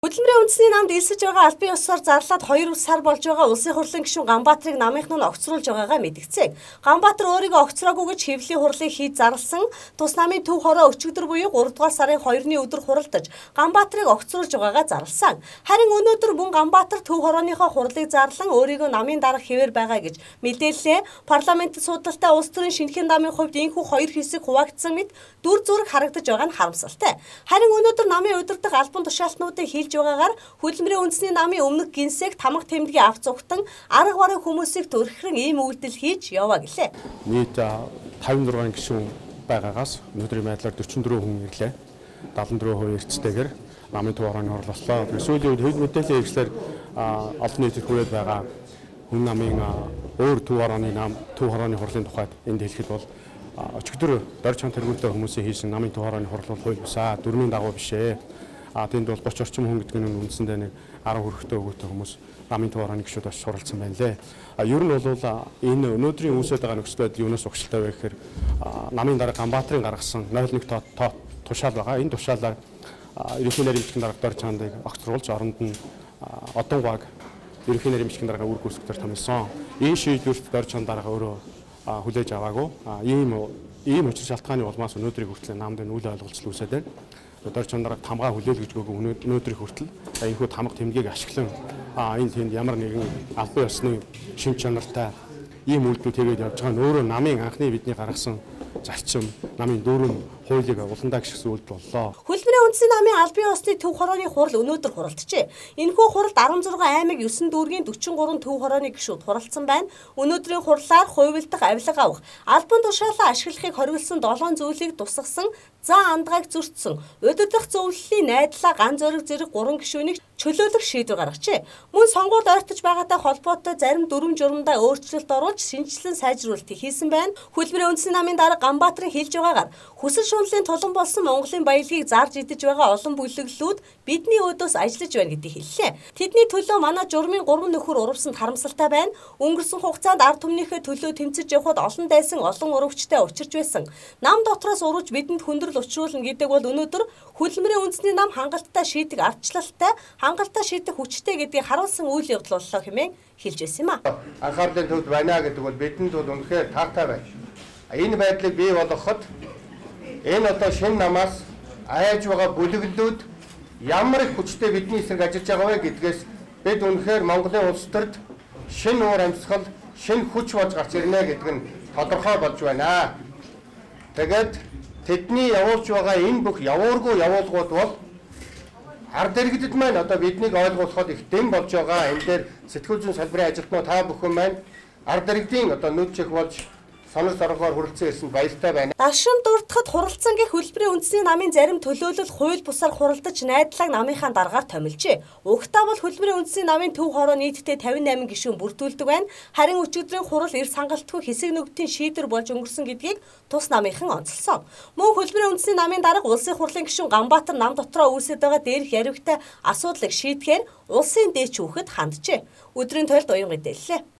Хөдөлмөрийн үндэсний намд элсэж байгаа албан ёсоор зарлаад 2 сар болж байгаа улсын хурлын гишүүн Ганбаатарыг намынх нь огцруулж байгаагаа мэдгцээ. Ганбаатар өөрийгөө огцроогүй гэж хэвлэлийн хурлыг хийж зарласан тус намын төв хороо өчигдөр буюу 3 дугаар сарын 2-ны өдөр хуралдаж Ганбаатарыг огцруулж байгаагаа зарласан. Харин өнөөдөр мөн Ганбаатар төв хорооныхоо хурлыг зарлан өөрийгөө намын дарга хэвээр байгаа гэж мэдээллээ. Парламентд судалтай улс төрийн шинэхэн намын хувьд энэхүү 2 хэсэг хуваагдсан мэт дүр зураг харагдаж байгаа нь харамсалтай. Харин өнөөдөр намын удирдах албан тушаалтнуудыг хийж байгаагаар хөдөлмөрийн үндэсний намын өмнөх гинсэг тамга тэмдгийн авч зүгтэн арга бараг хүмүүсийг төрхрэн ийм үйлдэл хийж яваа гэлээ. Нийт 56 гишүүн байгаагаас өнөөдрийн байдлаар 44 хүн ирлээ. 74% эрсдэгээр намын төв хорооны орлолцоо. Сүүлийн үед хэд мэдээллийн хэрэгслэр олон нийтэд хүрээд байгаа хүн намын өөр төв хорооны хурлын тухайд энд хэлэхэд бол өчигдөр дор чон тэргүүнтэй хүмүүсийн хийсэн намын төв хорооны хурал бол хууль бусаа дөрмийн дагуу бишээ. Тэнд бол 30 орчим хүн гэдэг нь үндсэндээ нэг 10 хүрэхтэй өгөөтэй хүмүүс намын төв хорооны гишүүд бас суралцсан байна лээ. Ер нь бол энэ өнөөдрийн үүсэж байгаа нөхцөл байдал юунаас угшилтай вэ гэхээр намын дарга Ганбаатарын гаргасан 0.1 тушаал байгаа. Энэ тушаалаар ерөнхий нарийн дарга дор чандыг огцруулж оронд нь одон баг ерөнхий нарийн дарга үр гүйцэтгэхээр томилсон. Энэ шийдвэрт дор чанд дарга өөрөө хүлээж аваагүй. Ийм учир шалтгааны улмаас өнөөдрийг хүртэл намд үл ойлголцол үүсээд байна. Дор чандараа тамгаа хүлээл гэж өгөөгүй өнөөдрийг хүртэл энэхүү тамга тэмдгийг ашиглан энэ тэнд ямар нэгэн албан ёсны шин чанартай ийм үйлдэлүүд хийгээд явж байгаа нь өөрөө намын анхны бидний гаргасан зарчим намын дөрвөн хуулийг уландаа гიშгсэн үйлдэл боллоо. Хөдөлмөрийн үндэсний намын албан ёсны төв хорооны хурал өнөөдөр хуралджээ. Энэхүү хуралд 16 аймаг 9 дүүргийн 43 төв хорооны гишүүд хуралдсан байна. Өнөөдрийн хурлаар хувилдах, авилга авах, албан тушаалаа ашиглахыг хориглосон 7 зүйлийг тусгасан зан андгааг зөрчсөн. Удирдах зөвлөлийн найдлаа ган зориг зэрэг 3 гишүүнийг чөлөөлөх шийдвэр гаргажээ. Мөн сонгуульд ойртож байгаатай холбоотой зарим дүрм журмдаа өөрчлөлт оруулж шинжилэн сайжруулалтыг хийсэн байна. Хөдөлмөрийн үндэсний намын дарга Ганбаатарын хэлж байгаагаар хүсэл шунлын тулан болсон Монголын баялагийг зарж идэж байгаа олон бүлэглүүд бидний өдөөс ажиллаж байна гэдгийг хэллээ. Тэдний төлөө манай журмын 3 нөхөр урвсанд харамсалтай байна. Өнгөрсөн хугацаанд ард түмнийхээ төлөө тэмцэж явхад олон дайсан олон урвчтай учирч байсан. Нам дотроос урвж бидэнд хүндрэл учруулна гэдэг бол өнөөдөр хөдөлмөрийн үндэсний нам хангалттай шийдэх ардчлалтай, хангалттай шийдэх хүчтэй гэдгийг харуулсан үйл явдал боллоо хэмээн хэлж байсан юм а. Анхаарлын төвд байна гэдэг бол бидэнд бол үнэхээр таатай байна. Энэ байдлыг бий болгоход энэ одоо шинэ намаас айж байгаа бүлэглүүд ямар их хүчтэй бидний эсрэг ажиллаж байгаа вэ гэдгээс бид үнэхээр Монголын улс төрд шинэ уур амьсгал, шинэ хүч болж гарч ирнэ гэдэг нь тодорхой болж байна. Тэгээд тэдний явуулж байгаа энэ бүх явуургүй явуулгууд бол ард иргэдэд маань одоо биднийг ойлгуулахад их дэм болж байгаа. Энэ дээр сэтгүүл зүйн салбарын ажилтнууд та бүхэн маань ард иргэдийн одоо нүд чих болж санал саргаар хүрэлцэн ирсэнд баяртай байна. Дашин дурдахад хуралцсан гэх хөдөлмөрийн үндэсний намын зарим төлөөлөл хууль бусаар хуралдаж найдлага намынхаа даргаар томилжээ. Угтаа бол хөдөлмөрийн үндэсний намын төв хороо нийтдээ 58 гишүүн бүрдүүлдэг байна. Харин өчигдрийн хурал эрс хангалтгүй хэсэг нүгтийн шийдвэр болж өнгөрсөн гэдгийг тус намынхан онцолсон. Мөн хөдөлмөрийн үндэсний намын дарга улсын хурлын гишүүн Ганбаатар нам дотроо үүсэж байгаа дээрх яривхтай асуудлыг шийдэхээр улсын дээч хүүхэд ханджээ. Өдрийн тойлд уян мэдээллээ.